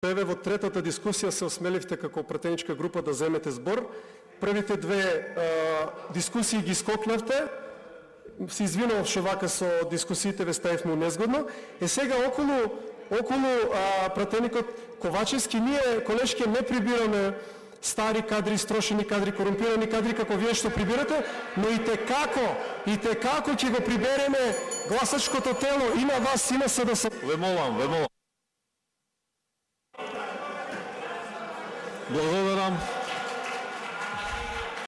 Еве во третата дискусија се осмеливте како пратеничка група да земете збор. Првите две дискусии ги скокнавте. Се извинувам што вака со дискусиите ве ставивме незгодно. Сега околу пратеникот Ковачевски ние колешки не прибираме стари кадри, строшени кадри, корумпирани кадри како вие што прибирате, но и те како ќе го прибереме гласачкото тело и на вас и на СДС. Ве молам. Благодарам.